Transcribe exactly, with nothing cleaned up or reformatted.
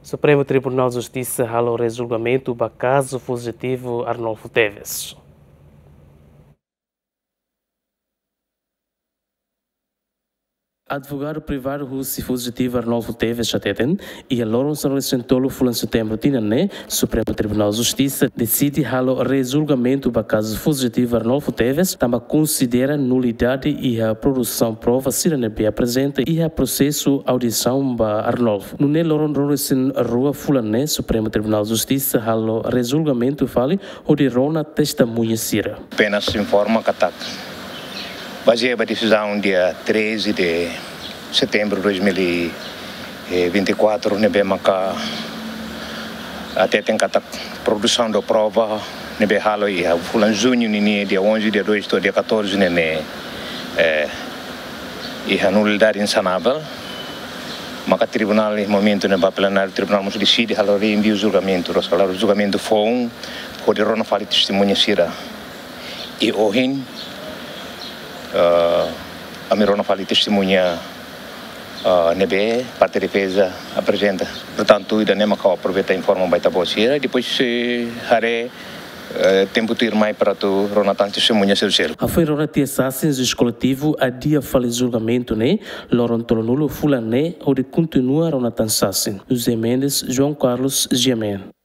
Supremu Tribunál Justisa halo rejulgamentu ba kazu fujitivu Arnolfo Teves. Advogadu privadu husi fujitivu Arnolfo Teves hateten, iha loron sanulu-resin-tolu fulan Setembru tinan ne'e, Supremu Tribunál Justisa deside halo rejulgamentu ba kazu fujitivu Arnolfo Teves, tanba konsidera nulidade iha produsaun prova sira ne'ebé aprezenta iha prosesu audiasaun ba Arnolfo. Nune'e loron ruanulu-resin-rua fulan ne'e, Supremu Tribunál Justisa halo rejulgamentu fali hodi rona testemuña sira. Apenas informa katak, bazeia ba desizaun dia treze de setembro dois mil e vinte e quatro, ne'ebé maka hateten katak produsaun de prova ne'ebé halo iha fulan Juñu nian, dia onze, dia dois to'o dia catorze ne'e, ne'e, eh, iha nulidade insanável. Maka tribunál, iha momentu ne'ebá plenáriu tribunál mós deside halo reenviu julgamentu, roskalaro julgamentu foun, hodi rona fali testemuña sira. I ohin, eh, ami rona fali testemuña, eh, ne'ebé parte defeza aprezenta. Portantu, ida-ne'e maka aproveita informa ba ita-boot sira, depois, eh, haree, eh, tempu tuirmai para atu rona tan testemuña sira seluk. Hafoin rona tiha sasin, juís koletivu adia fali julgamentu ne'e loron tolunulu fulan ne'e, hodi kontinua rona tan sasin. José Mendes, João Carlos, G M N.